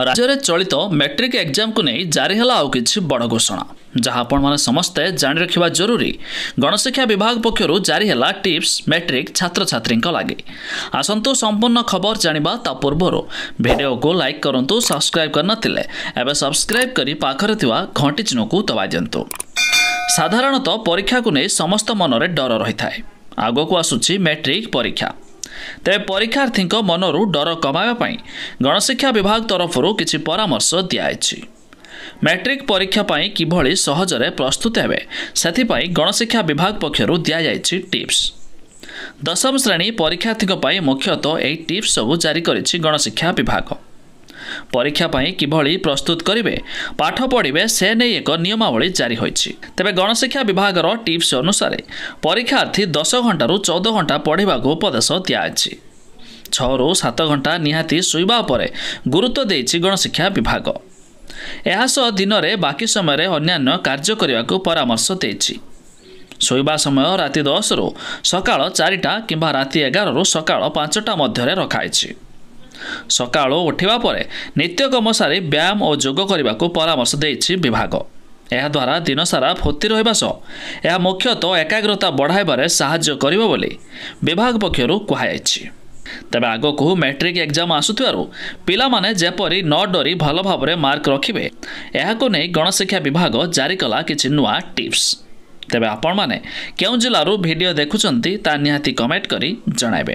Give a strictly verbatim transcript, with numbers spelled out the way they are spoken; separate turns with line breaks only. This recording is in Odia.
ରାଜ୍ୟରେ ଚଳିତ ମେଟ୍ରିକ୍ ଏକ୍ଜାମକୁ ନେଇ ଜାରି ହେଲା ଆଉ କିଛି ବଡ଼ ଘୋଷଣା, ଯାହା ଆପଣମାନେ ସମସ୍ତେ ଜାଣି ରଖିବା ଜରୁରୀ। ଗଣଶିକ୍ଷା ବିଭାଗ ପକ୍ଷରୁ ଜାରି ହେଲା ଟିପ୍ସ ମେଟ୍ରିକ୍ ଛାତ୍ରଛାତ୍ରୀଙ୍କ ଲାଗି। ଆସନ୍ତୁ ସମ୍ପୂର୍ଣ୍ଣ ଖବର ଜାଣିବା। ତା ପୂର୍ବରୁ ଭିଡ଼ିଓକୁ ଲାଇକ୍ କରନ୍ତୁ, ସବସ୍କ୍ରାଇବ୍ କରିନଥିଲେ ଏବେ ସବସ୍କ୍ରାଇବ୍ କରି ପାଖରେ ଥିବା ଘଣ୍ଟି ଚିହ୍ନକୁ ଦବାଇ ଦିଅନ୍ତୁ। ସାଧାରଣତଃ ପରୀକ୍ଷାକୁ ନେଇ ସମସ୍ତ ମନରେ ଡର ରହିଥାଏ। ଆଗକୁ ଆସୁଛି ମେଟ୍ରିକ୍ ପରୀକ୍ଷା। ତେବେ ପରୀକ୍ଷାର୍ଥୀଙ୍କ ମନରୁ ଡର କମାଇବା ପାଇଁ ଗଣଶିକ୍ଷା ବିଭାଗ ତରଫରୁ କିଛି ପରାମର୍ଶ ଦିଆଯାଇଛି। ମେଟ୍ରିକ୍ ପରୀକ୍ଷା ପାଇଁ କିଭଳି ସହଜରେ ପ୍ରସ୍ତୁତ ହେବେ, ସେଥିପାଇଁ ଗଣଶିକ୍ଷା ବିଭାଗ ପକ୍ଷରୁ ଦିଆଯାଇଛି ଟିପ୍ସ। ଦଶମ ଶ୍ରେଣୀ ପରୀକ୍ଷାର୍ଥୀଙ୍କ ପାଇଁ ମୁଖ୍ୟତଃ ଏହି ଟିପ୍ସ ସବୁ ଜାରି କରିଛି ଗଣଶିକ୍ଷା ବିଭାଗ। ପରୀକ୍ଷା ପାଇଁ କିଭଳି ପ୍ରସ୍ତୁତ କରିବେ, ପାଠ ପଢ଼ିବେ, ସେ ନେଇ ଏକ ନିୟମାବଳୀ ଜାରି ହୋଇଛି। ତେବେ ଗଣଶିକ୍ଷା ବିଭାଗର ଟିପ୍ସ ଅନୁସାରେ ପରୀକ୍ଷାର୍ଥୀ ଦଶ ଘଣ୍ଟାରୁ ଚଉଦ ଘଣ୍ଟା ପଢ଼ିବାକୁ ଉପଦେଶ ଦିଆଯାଇଛି। ଛଅରୁ ସାତ ଘଣ୍ଟା ନିହାତି ଶୋଇବା ଉପରେ ଗୁରୁତ୍ୱ ଦେଇଛି ଗଣଶିକ୍ଷା ବିଭାଗ। ଏହାସହ ଦିନରେ ବାକି ସମୟରେ ଅନ୍ୟାନ୍ୟ କାର୍ଯ୍ୟ କରିବାକୁ ପରାମର୍ଶ ଦେଇଛି। ଶୋଇବା ସମୟ ରାତି ଦଶରୁ ସକାଳ ଚାରିଟା କିମ୍ବା ରାତି ଏଗାରରୁ ସକାଳ ପାଞ୍ଚଟା ମଧ୍ୟରେ ରଖାଯାଇଛି। ସକାଳୁ ଉଠିବା ପରେ ନିତ୍ୟକର୍ମ ସାରି ବ୍ୟାୟାମ ଓ ଯୋଗ କରିବାକୁ ପରାମର୍ଶ ଦେଇଛି ବିଭାଗ। ଏହାଦ୍ୱାରା ଦିନସାରା ଫୁର୍ତ୍ତି ରହିବା ସହ ଏହା ମୁଖ୍ୟତଃ ଏକାଗ୍ରତା ବଢ଼ାଇବାରେ ସାହାଯ୍ୟ କରିବ ବୋଲି ବିଭାଗ ପକ୍ଷରୁ କୁହାଯାଇଛି। ତେବେ ଆଗକୁ ମେଟ୍ରିକ୍ ଏକ୍ଜାମ୍ ଆସୁଥିବାରୁ ପିଲାମାନେ ଯେପରି ନ ଡରି ଭଲ ଭାବରେ ମାର୍କ ରଖିବେ, ଏହାକୁ ନେଇ ଗଣଶିକ୍ଷା ବିଭାଗ ଜାରି କଲା କିଛି ନୂଆ ଟିପ୍ସ। ତେବେ ଆପଣମାନେ କେଉଁ ଜିଲ୍ଲାରୁ ଭିଡ଼ିଓ ଦେଖୁଛନ୍ତି, ତା ନିହାତି କମେଣ୍ଟ କରି ଜଣାଇବେ।